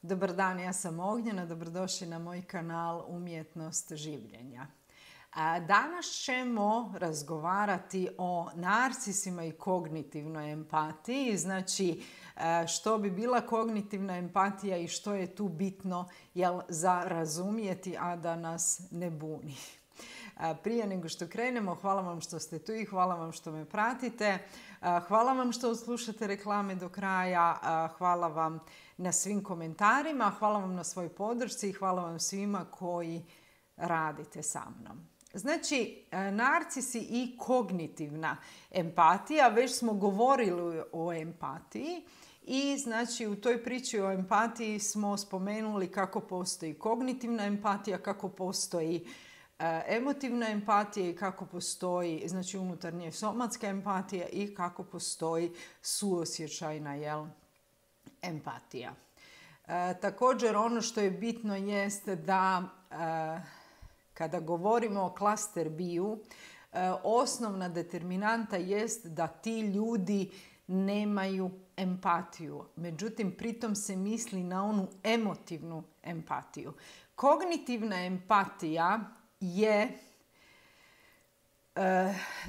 Dobar dan, ja sam Ognjena, dobrodošli na moj kanal Umjetnost življenja. Danas ćemo razgovarati o narcisima i kognitivnoj empatiji, znači što bi bila kognitivna empatija i što je tu bitno za razumjeti, a da nas ne buni. Prije nego što krenemo, hvala vam što ste tu i hvala vam što me pratite. Hvala vam što slušate reklame do kraja. Hvala vam na svim komentarima. Hvala vam na svojoj podršci i hvala vam svima koji radite sa mnom. Znači, narcisi i kognitivna empatija. Već smo govorili o empatiji. I znači u toj priči o empatiji smo spomenuli kako postoji kognitivna empatija, kako postoji emotivna empatija i kako postoji znači unutarnja somatska empatija i kako postoji suosjećajna empatija. Također ono što je bitno jeste da kada govorimo o klaster biju, osnovna determinanta jest da ti ljudi nemaju empatiju. Međutim, pritom se misli na onu emotivnu empatiju. Kognitivna empatija je,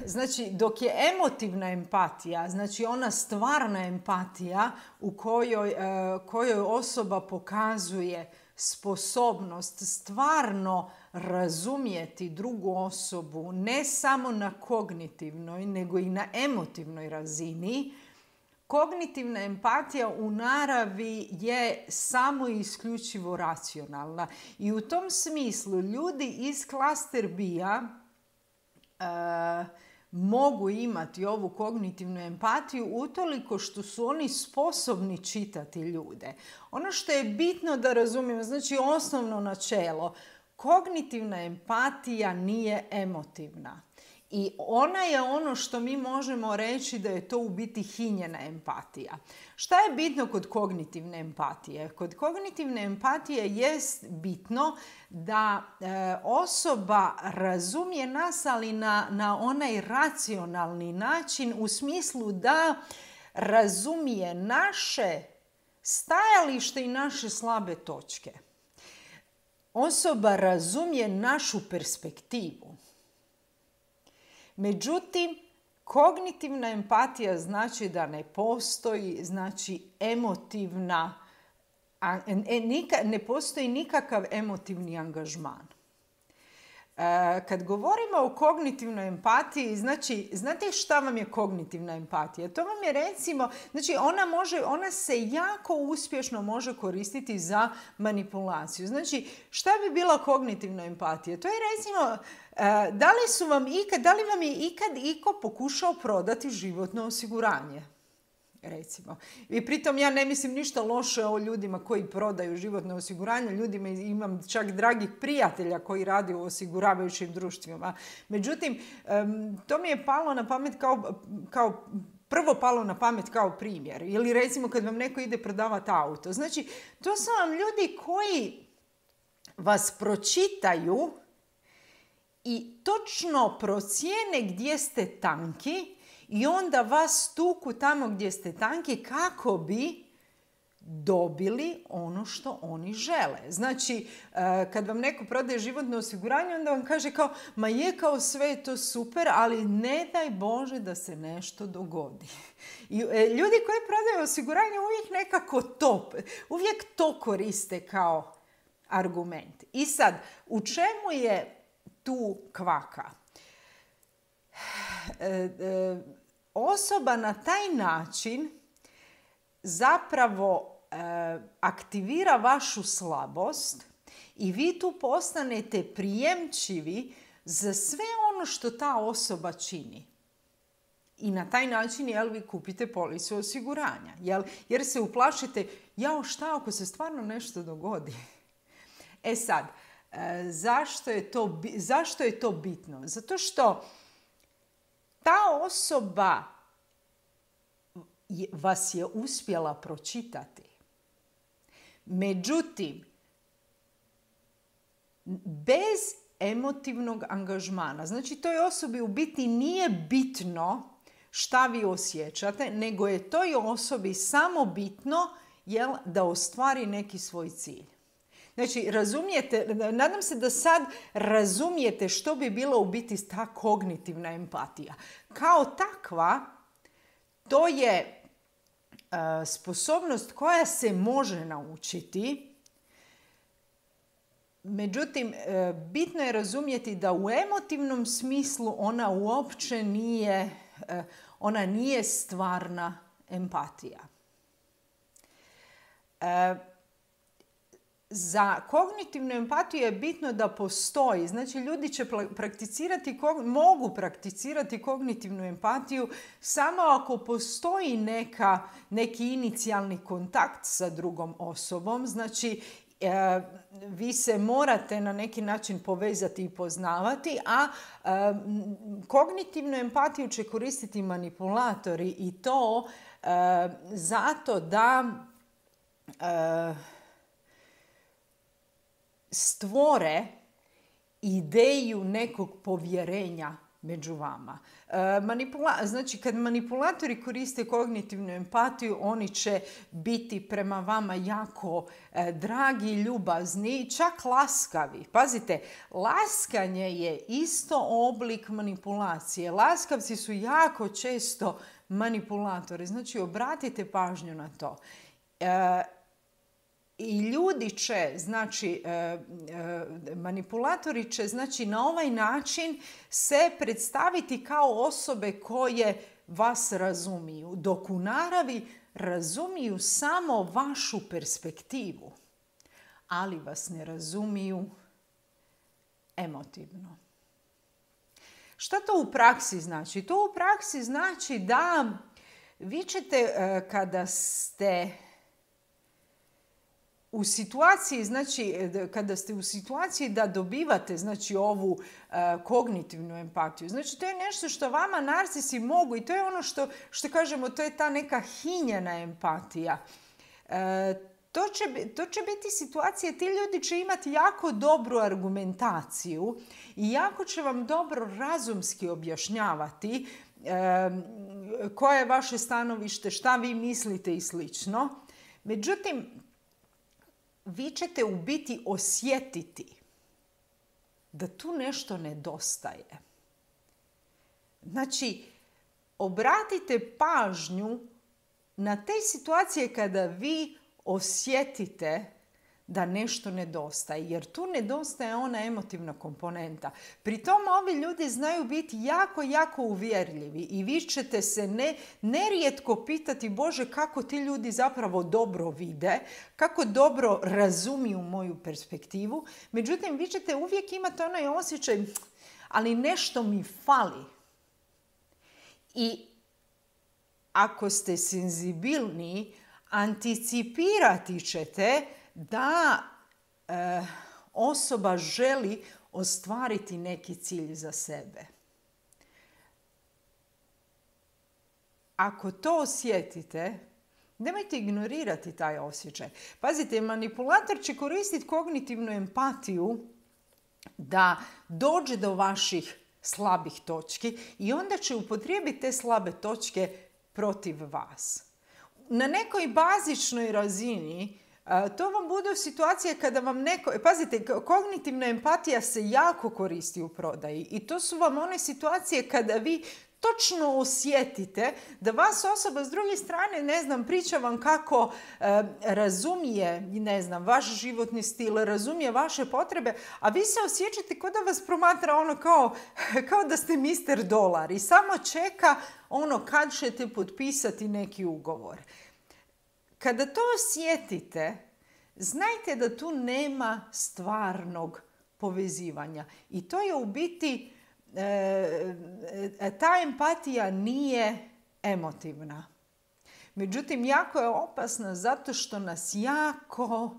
znači dok je emotivna empatija, znači ona stvarna empatija u kojoj osoba pokazuje sposobnost stvarno razumjeti drugu osobu, ne samo na kognitivnoj, nego i na emotivnoj razini. Kognitivna empatija u naravi je samo i isključivo racionalna. I u tom smislu ljudi iz klaster bija mogu imati ovu kognitivnu empatiju utoliko što su oni sposobni čitati ljude. Ono što je bitno da razumijemo, znači osnovno načelo, kognitivna empatija nije emotivna. I ona je ono što mi možemo reći da je to u biti hinjena empatija. Šta je bitno kod kognitivne empatije? Kod kognitivne empatije jest bitno da osoba razumije nas, ali na onaj racionalni način, u smislu da razumije naše stajalište i naše slabe točke. Osoba razumije našu perspektivu. Međutim, kognitivna empatija znači da ne postoji ne postoji nikakav emotivni angažman. Kad govorimo o kognitivnoj empatiji, znači, znate šta vam je kognitivna empatija? To vam je recimo, znači ona se jako uspješno može koristiti za manipulaciju. Znači, šta bi bila kognitivna empatija? To je recimo, da li vam je ikad iko pokušao prodati životno osiguranje? Recimo. I pritom ja ne mislim ništa loše o ljudima koji prodaju životno osiguranje. Ljudima imam čak dragih prijatelja koji radi u osiguravajućim društvima. Međutim, to mi je palo na pamet prvo palo na pamet kao primjer. Ili recimo kad vam neko ide prodavati auto. Znači, to su vam ljudi koji vas pročitaju i točno procijene gdje ste tanki i onda vas tuku tamo gdje ste tanki kako bi dobili ono što oni žele. Znači, kad vam neko prodaje životno osiguranje, onda vam kaže kao, ma je kao sve je to super, ali ne daj Bože da se nešto dogodi. I ljudi koji prodaju osiguranje uvijek to koriste kao argument. I sad, u čemu je tu kvaka? Osoba na taj način zapravo aktivira vašu slabost i vi tu postanete prijemčivi za sve ono što ta osoba čini. I na taj način vi kupite policu osiguranja. Jer se uplašite, šta ako se stvarno nešto dogodi? E sad, zašto je to bitno? Zato što ta osoba vas je uspjela pročitati. Međutim, bez emotivnog angažmana, znači toj osobi u biti nije bitno šta vi osjećate, nego je toj osobi samo bitno da ostvari neki svoj cilj. Znači, razumijete, nadam se da sad razumijete što bi bila u biti ta kognitivna empatija. Kao takva, to je sposobnost koja se može naučiti. Međutim, bitno je razumjeti da u emotivnom smislu ona uopće nije stvarna empatija. Za kognitivnu empatiju je bitno da postoji. Znači, ljudi će mogu prakticirati kognitivnu empatiju samo ako postoji neki inicijalni kontakt sa drugom osobom. Znači, vi se morate na neki način povezati i poznavati, a kognitivnu empatiju će koristiti manipulatori i to zato da stvore ideju nekog povjerenja među vama. Znači, kad manipulatori koriste kognitivnu empatiju, oni će biti prema vama jako dragi, ljubazni, čak laskavi. Pazite, laskanje je isto oblik manipulacije. Laskavci su jako često manipulatori. Znači, obratite pažnju na to. I ljudi će, znači, manipulatori će, znači, na ovaj način se predstaviti kao osobe koje vas razumiju, dok u naravi razumiju samo vašu perspektivu, ali vas ne razumiju emotivno. Šta to u praksi znači? To u praksi znači da vi ćete, kada ste u situaciji, znači, kada ste u situaciji da dobivate, znači, ovu kognitivnu empatiju, znači, to je nešto što vama narcisi mogu i to je ono što kažemo, to je ta neka hinjena empatija. To će biti situacije, ti ljudi će imati jako dobru argumentaciju i jako će vam dobro razumski objašnjavati koje je vaše stanovište, šta vi mislite i slično. Međutim, vi ćete u biti osjetiti da tu nešto nedostaje. Znači, obratite pažnju na te situacije kada vi osjetite da nešto nedostaje, jer tu nedostaje ona emotivna komponenta. Pri tome ovi ljudi znaju biti jako, jako uvjerljivi i vi ćete se nerijetko pitati, Bože, kako ti ljudi zapravo dobro vide, kako dobro razumiju moju perspektivu. Međutim, vi ćete uvijek imati onaj osjećaj, ali nešto mi fali. I ako ste senzibilni, anticipirati ćete da osoba želi ostvariti neki cilj za sebe. Ako to osjetite, nemojte ignorirati taj osjećaj. Pazite, manipulator će koristiti kognitivnu empatiju da dođe do vaših slabih točki i onda će upotrijebiti te slabe točke protiv vas. Na nekoj bazičnoj razini to vam bude situacija kada vam neko... Pazite, kognitivna empatija se jako koristi u prodaji i to su vam one situacije kada vi točno osjetite da vas osoba s druge strane, ne znam, priča vam kako razumije, ne znam, vaš životni stil, razumije vaše potrebe, a vi se osjećate kao da vas promatra ono kao da ste Mr. Dolar i samo čeka ono kad ćete potpisati neki ugovor. Kada to osjetite, znajte da tu nema stvarnog povezivanja. I to je u biti, ta empatija nije emotivna. Međutim, jako je opasna zato što nas jako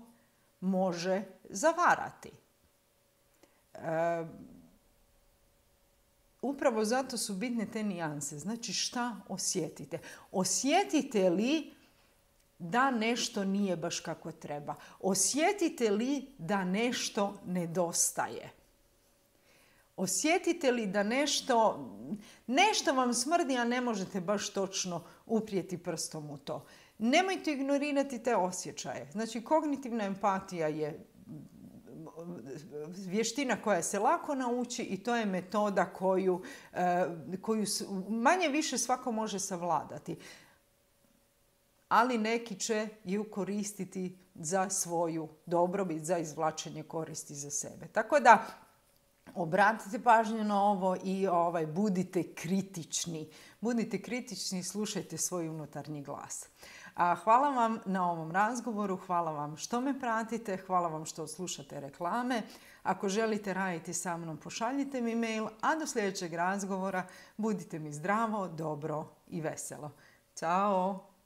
može zavarati. Upravo zato su bitne te nijanse. Znači, šta osjetite? Osjetite li da nešto nije baš kako treba? Osjetite li da nešto nedostaje? Osjetite li da nešto vam smrdi, a ne možete baš točno uprijeti prstom u to? Nemojte ignorirati te osjećaje. Znači, kognitivna empatija je vještina koja se lako nauči i to je metoda koju manje više svako može savladati. Ali neki će ju koristiti za svoju dobrobit, za izvlačenje koristi za sebe. Tako da obratite pažnju na ovo i budite kritični. Budite kritični i slušajte svoj unutarnji glas. Hvala vam na ovom razgovoru, hvala vam što me pratite, hvala vam što slušate reklame. Ako želite raditi sa mnom, pošaljite mi mail, a do sljedećeg razgovora budite mi zdravo, dobro i veselo. Ćao!